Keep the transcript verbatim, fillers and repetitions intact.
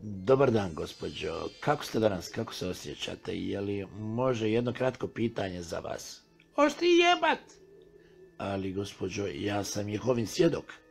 Dobar dan, gospođo. Kako ste danas? Kako se osjećate? Je li može jedno kratko pitanje za vas? Oš ti jebat? Ali, gospođo, ja sam Jehovin svjedok.